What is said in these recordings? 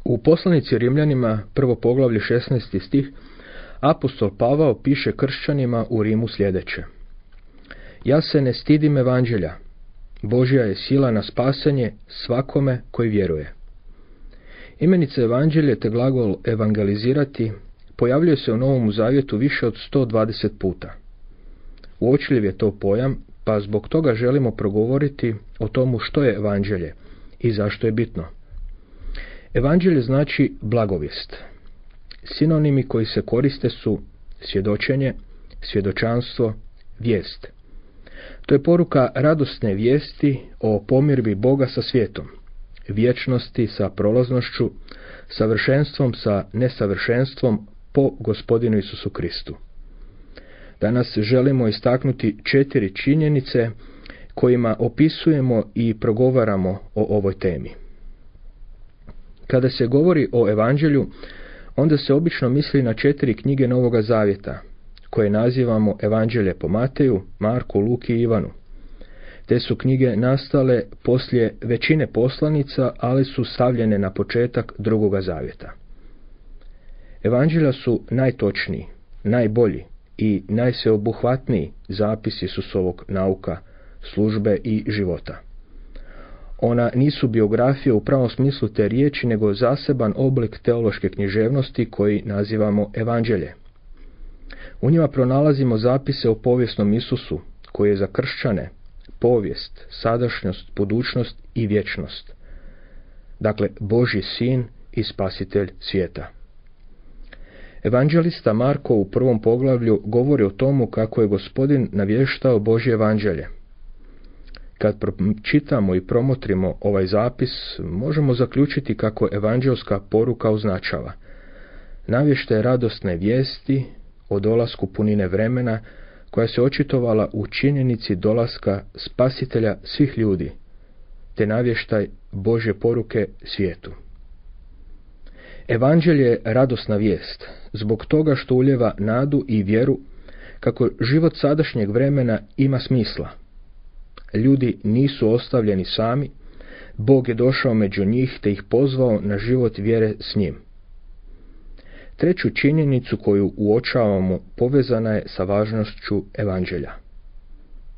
U poslanici Rimljanima, 1. poglavlje 16. stih, apostol Pavao piše kršćanima u Rimu sljedeće. Ja se ne stidim evanđelja. Božja je sila na spasanje svakome koji vjeruje. Imenica evanđelje te glagol evangelizirati pojavljuje se u Novom Zavjetu više od 120 puta. Uočljiv je to pojam, pa zbog toga želimo progovoriti o tomu što je evanđelje i zašto je bitno. Evanđelje znači blagovijest. Sinonimi koji se koriste su svjedočenje, svjedočanstvo, vijest. To je poruka radosne vijesti o pomirbi Boga sa svijetom, vječnosti sa prolaznošću, savršenstvom sa nesavršenstvom po Gospodinu Isusu Kristu. Danas želimo istaknuti 4 činjenice kojima opisujemo i progovaramo o ovoj temi. Kada se govori o evanđelju, onda se obično misli na 4 knjige Novoga Zavjeta, koje nazivamo evanđelje po Mateju, Marku, Luki i Ivanu. Te su knjige nastale poslije većine poslanica, ali su stavljene na početak Drugoga Zavjeta. Evanđelja su najtočniji, najbolji i najsveobuhvatniji zapis Isusovog nauka, službe i života. Ona nisu biografije u pravom smislu te riječi, nego zaseban oblik teološke književnosti koji nazivamo evanđelje. U njima pronalazimo zapise o povijesnom Isusu, koji je za kršćane povijest, sadašnjost, budućnost i vječnost. Dakle, Božji sin i spasitelj svijeta. Evanđelista Marko u 1. poglavlju govori o tomu kako je Gospodin navještao Božje evanđelje. Kad pročitamo i promotrimo ovaj zapis, možemo zaključiti kako evanđelska poruka označava navještaj radosne vijesti o dolasku punine vremena, koja se očitovala u činjenici dolaska spasitelja svih ljudi, te navještaj Božje poruke svijetu. Evanđelje je radosna vijest, zbog toga što ulijeva nadu i vjeru kako život sadašnjeg vremena ima smisla. Ljudi nisu ostavljeni sami, Bog je došao među njih te ih pozvao na život vjere s njim. Treću činjenicu koju uočavamo povezana je sa važnošću evanđelja.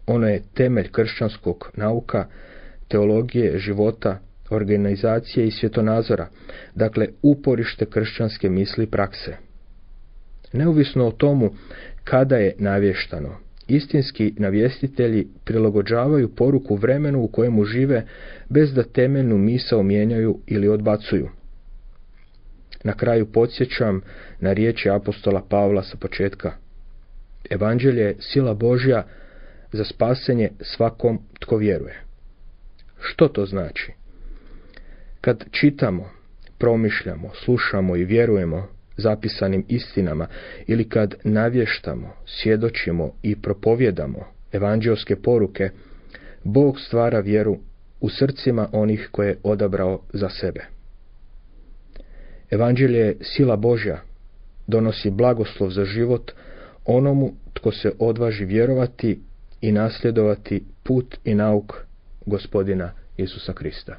Ono je temelj kršćanskog nauka, teologije, života, organizacije i svjetonazora, dakle uporište kršćanske misli i prakse. Neovisno o tomu kada je navještano, istinski navjestitelji prilagođavaju poruku vremenu u kojemu žive bez da temeljnu misao mijenjaju ili odbacuju. Na kraju podsjećam na riječi apostola Pavla sa početka. Evanđelje je sila Božja za spasenje svakom tko vjeruje. Što to znači? Kad čitamo, promišljamo, slušamo i vjerujemo zapisanim istinama ili kad navještamo, svjedočimo i propovjedamo evanđelske poruke, Bog stvara vjeru u srcima onih koje je odabrao za sebe. Evanđelje je sila Božja, donosi blagoslov za život onomu tko se odvaži vjerovati i nasljedovati put i nauk Gospodina Isusa Krista.